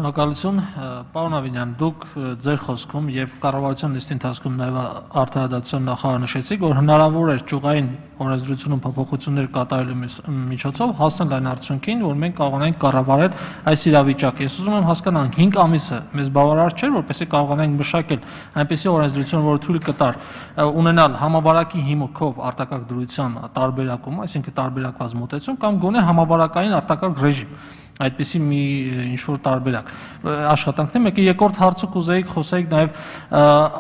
Շնորհակալություն, պարոն Ավինյան, դուք ձեր խոսքում եւ կառավարության նիստի ընթացքում նաեւ արտահայտության նախարար նշեցիք, որ հնարավոր էր ճյուղային օրենսդրությունում փոփոխություններ կատարելու միջոցով հասնել այն արդյունքին, որ մենք կարողանանք կառավարել այս իրավիճակը։ Ես ուզում եմ հասկանալ 5 ամիսը մեզ բավարար չէր, որպեսզի կարողանանք մշակել այնպիսի օրենսդրություն, որը թույլ կտար ունենալ համավարակի հիմքով արտակարգ դրության տարբերակում, այսինքն տարբերակված մոտեցում կամ գոնե համավարակային արտակարգ ռեժիմ։ Այդպիսի մի ինչ-որ տարբերակ աշխատանքն է։ Մեկը երկրորդ հարցը կուզեիք խոսեիք նաև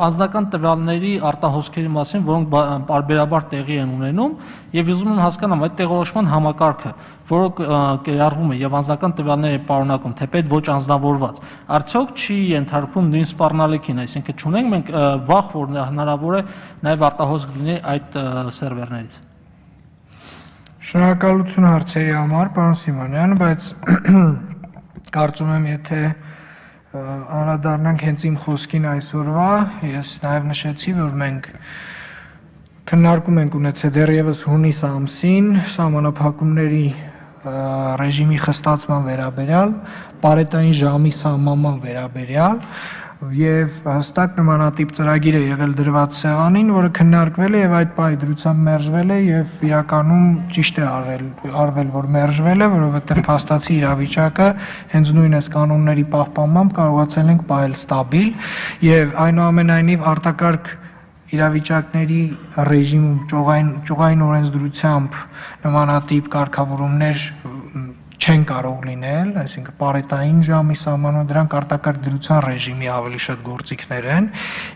անձնական տվյալների արտահոսքերի մասին, որոնք պարբերաբար տեղի են ունենում, եւ ուզում եմ հասկանամ այդ տեղորոշման համակարգը, որը կիրառվում է եւ անձնական տվյալների պարունակում, թեպետ ոչ անձնավորված, արդյոք չի ենթարկվում նույն սպառնալիքին, այսինքն չունենք մենք վախ, որ հնարավոր է նաև արտահոսք լինի այդ սերվերներից։ Շնորհակալություն հարցերի համար, պարոն Սիմոնյան, բայց կարծում եմ, եթե անդրադառնանք հենց իմ խոսքին այսօրվա, ես նաև նշեցի, որ մենք քննարկում ենք ունեցել դեռևս հունիս ամսին սահմանափակումների ռեժիմի խստացման վերաբերյալ, պարետային ժամի սահմանման վերաբերյալ եւ հստակ նմանատիպ ծրագիր է եղել դրված սեղանին, որը քննարկվել է եւ այդ պահի դրությամբ մերժվել է եւ իրականում ճիշտ է արվել, որ մերժվել է, որովհետեւ փաստացի իրավիճակը հենց նույն այս կանոնների պահպանմամբ կարողացել ենք պահել ստաբիլ եւ այնուամենայնիվ արտակարգ իրավիճակների ռեժիմում ճյուղային օրենսդրությամբ նմանատիպ կարգավորումներ չեն կարող լինել, այսինքն պարետային ժամի սահմանումը դրանք արտակարգ դրության ռեժիմի ավելի շատ գործիքներ են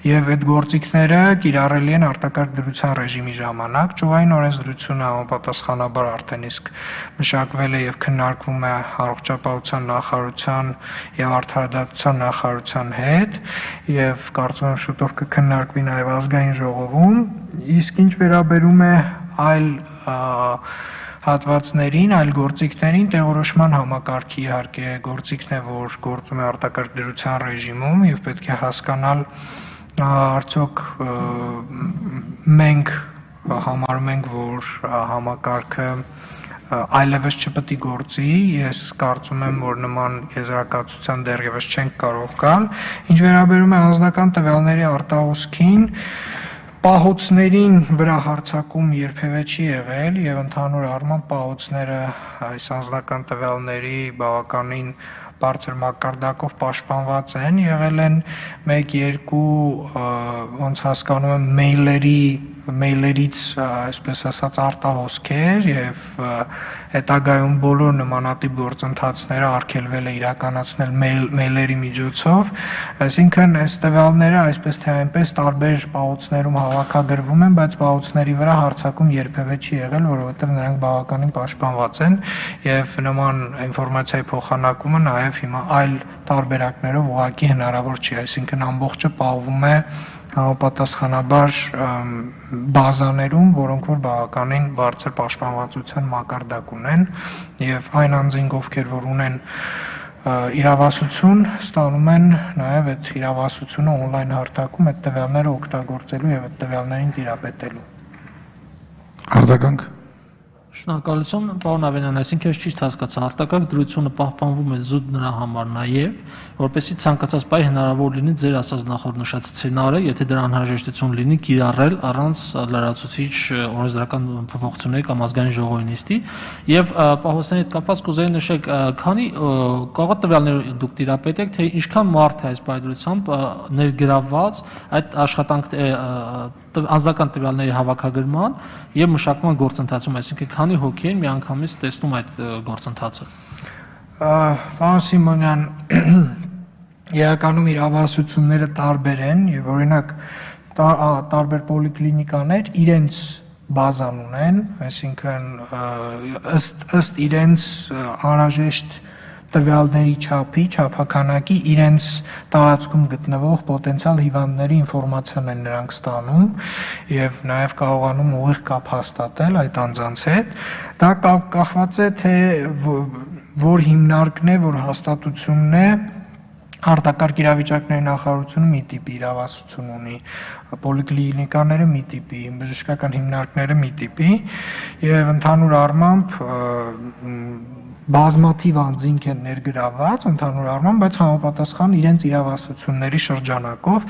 եւ այդ գործիքները կիրառելի են արտակարգ դրության ռեժիմի ժամանակ ճյուղային օրենսդրությունը համապատասխանաբար արդեն իսկ մշակվել է եւ քննարկվում է առողջապահության նախարարության եւ արդարադատության նախարարության հետ եւ կարծում եմ շուտով կքննարկվի նաեւ ազգային ժողովում, իսկ ինչ վերաբերում է այլ հատվածներին, այլ գործիքներին տեղորոշման համակարգի իհարկե գործիքն է, որ գործում է արտակարգ դրության ռեժիմում եւ պետք է հասկանալ արդյոք մենք համարում ենք, որ համակարգը այլևս չպետք է գործի, ես կարծում եմ, որ նման եզրակացության դեռևս չենք կարող գալ, ինչ վերաբերում է անձնական տվյալների արտահոսքին պահոցներին վրա հարձակում երբևէ չի եղել եւ ընդհանուր առմամբ պահոցները այս անձնական տվյալների բավականին բարձր մակարդակով պաշտպանված են, եղել են 1-2 ոնց հասկանում եմ մեյլերից այսպես ասած արտահոսքեր եւ հետագայում բոլոր նմանատիպ գործընթացները արգելվել է իրականացնել մեյլերի միջոցով, այսինքն այս տվյալները այսպես թե այնպես տարբեր պահոցներում հավաքագրվում են, բայց պահոցների վրա հարձակում երբևէ չի եղել, որովհետեւ նրանք բավականին պաշտպանված են եւ նման ինֆորմացիայի փոխանակումը նաեւ հիմա այլ տարբերակներով ուղղակի հնարավոր չի, այսինքն ամբողջը պահվում է համապատասխանաբար բազաներում, որոնք որ բավականին բարձր պաշտպանվածության մակարդակ ունեն եւ այն անձինք, ովքեր որ ունեն իրավասություն, ստանում են նաեւ այդ իրավասությունը on-line հարթակում այդ տվյալները օգտագործելու եւ այդ տվյալներին տիրապետելու։ Արձագանք։ Շնորհակալություն, պարոն Ավենյան, այսինքն ես ճիշտ հասկացա, արտակարգ դրությունը պահպանվում է զուտ նրա համար նաև, որպեսզի ցանկացած պահի հնարավոր լինի ձեր ասած նախորդ նշած սցենարը, եթե դրա անհրաժեշտություն լինի, կիրառել առանց լրացուցիչ օրենսդրական փոփոխությունների կամ ազգային ժողովի նիստի, եւ պահոցների հետ կապված կուզեի նշեք, քանի կողոտ տվյալներ դուք տիրապետեք, թե ինչքան մարդ է այս պայծրությամբ ներգրավված այդ աշխատանք անձնական տվյալների հավաքագրման եւ մշակման գործընթացում, այսինքն քանի հոգի են միանգամից տեսնում այդ գործընթացը։ Պարոն Սիմոնյան, իրականում իրավասությունները տարբեր են եւ օրինակ տարբեր պոլիկլինիկաներ իրենց բազան ունեն, այսինքն ըստ իրենց անհրաժեշտ տվյալների չափի, չափականակի իրենց տարածքում գտնվող պոտենցիալ հիվանդների ինֆորմացիան են նրանք ստանում եւ նաեւ կարողանում ուղիղ կապ հաստատել այդ անձանց հետ։ Դա կախված է թե որ հիմնարկն է, որ հաստատությունն է, արտակարգ իրավիճակների նախարարությունը մի տիպի իրավասություն ունի, պոլիկլինիկաները մի տիպի, բժշկական հիմնարկները մի տիպի եւ ընդհանուր առմամբ բազմաթիվ անձինք են ներգրաված ընդհանուր առմամբ, բայց համապատասխան իրենց իրավասությունների շրջանակով,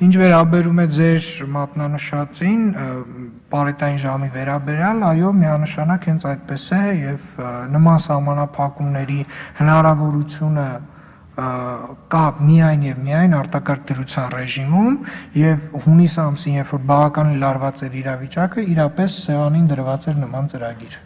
ինչ վերաբերում է ձեր մատնանշածին, պարետային ժամի վերաբերյալ, այո, միանշանակ հենց այդպես է եւ նման սահմանափակումների հնարավորությունը կա միայն եւ միայն արտակարգ դրության ռեժիմում եւ հունիս ամսին, երբ որ բավականին լարված էր իրավիճակը, իրապես սեղանին դրված էր նման ծրագիր։